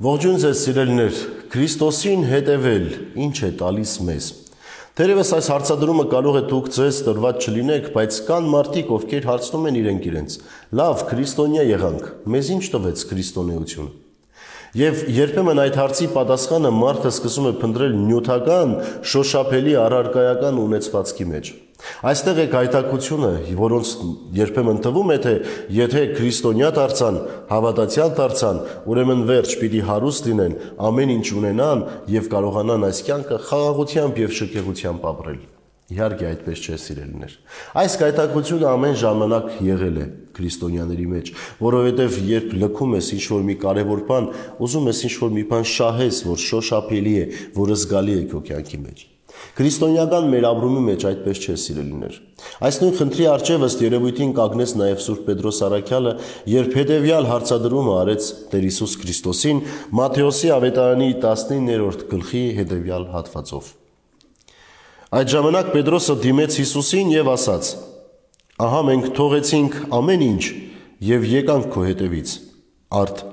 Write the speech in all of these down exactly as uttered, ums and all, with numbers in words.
Ողջույն ձեզ սիրելիներ, Քրիստոսին հետևել ինչ է տալիս մեզ։ Թերևս այս հարցադրումը կարող է դուք ձեզ տրված չլինեք, բայց կան մարդիկ, ովքեր հարցնում են իրենք իրենց. լավ, քրիստոնյա եղանք, մեզ ինչ տվեց քրիստոնեություն։ Եվ երբեմն այդ հարցի պատասխանը մարդը սկսում է փնտրել նյութական, շոշափելի առարկայական ունեցվածքի մեջ։ Այստեղ է գայթակղությունը, որոնց երբեմն թվում է, թե եթե քրիստոնյա դարձան, հավատացյալ դարձան, ուրեմն վերջ պիտի հարուստ լինեն, ամեն ինչ ունենան եւ կարողանան այս կյանքը խաղաղությամբ եւ շքեղությամբ ապրել։ Իհարկե այդպես չէ, սիրելիներ։ Այս գայթակղությունը ամեն ժամանակ եղել է քրիստոնյաների մեջ, որովհետև երբ լքում ես ինչ-որ մի կարևոր բան, ուզում ես ինչ-որ մի բան շահես, որ շոշափելի է, որ զգալի է քո կյանքի մեջ։ Քրիստոնեական մեր ապրումի մեջ այդպես չէ, սիրելիներ։ Այս նույն խնդրի առջև ըստ երևույթին կանգնեց նաև Սուրբ Պետրոս Առաքյալը, երբ հետևյալ հարցադրումը արեց Տեր Հիսուս Քրիստոսին Մատթեոսի ավետարանի տասնիններորդ գլխի հետևյալ հատվածով։ Այդ ժամանակ Պետրոսը դիմեց Հիսուսին եւ ասաց. «Ահա մենք թողեցինք ամեն ինչ եւ եկանք քո հետևից, արդ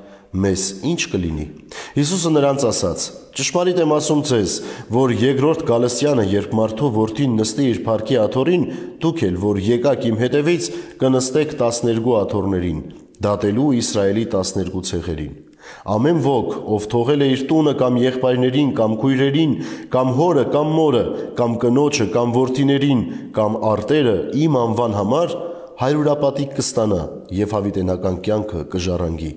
մեզ ինչ կլինի»։ Հիսուսը նրանց ասաց. «Ճշմարիտ եմ ասում ձեզ, որ երկրորդ գալստյանը, երբ մարդու որդին նստի իր փառքի աթոռին, դուք էլ որ եկաք իմ հետևից, կնստեք տասներկու աթոռներին, դատելու Իսրայելի տասներկու ցեղերին։ Ամեն ոք, ով թողել է իր տունը կամ եղբայրներին, կամ քույրերին, կամ հորը, կամ մորը, կամ կնոջը, կամ որդիներին, կամ արտերը իմ անվան համար, հարյուրապատիկ կստանա եւ հավիտենական կյանքը կժառանգի։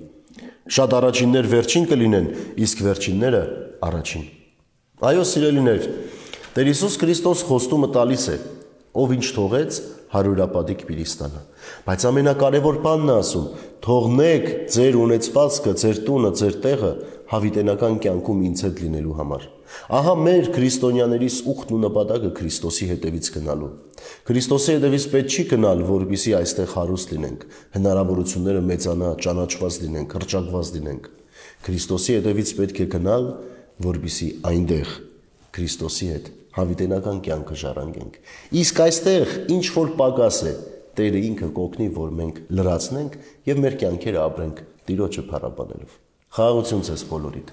Շատ առաջիններ վերջին կլինեն, իսկ վերջինները առաջին»։ Այո, սիրելիներ, Տեր Հիսուս Քրիստոս խոստումը տալիս է, ով ինչ թողեց, հարյուրապատիկ պիտի ստանա։ Բայց ամենակարևոր բանն է ասում. թողնեք ձեր ունեցվածքը, ձեր տունը, ձեր տեղը հավիտենական կյանքում ինձ հետ լինելու համար։ Ահա մեր քրիստոնյաներիս ուխտն ու նպատակը Քրիստոսի հետևից գնալու։ Քրիստոսի հետևից պետք չի գնալ, որպեսզի այստեղ հարուստ լինենք, հնարավորությունները մեծանա, ճանաչված լինենք, հռչակված լինենք։ Քրիստոսի հետևից պետք է գնալ, որպեսզի այնտեղ Քրիստոսի հետ հավիտենական կյանքը ժառանգենք։ Իսկ այստեղ ինչ որ պակաս է, Տերը ինքը կօգնի, որ մենք լրացնենք եւ մեր կյանքերը ապրենք Տիրոջը փառաբանելով։ Խաղաղություն ձեզ բոլորիդ։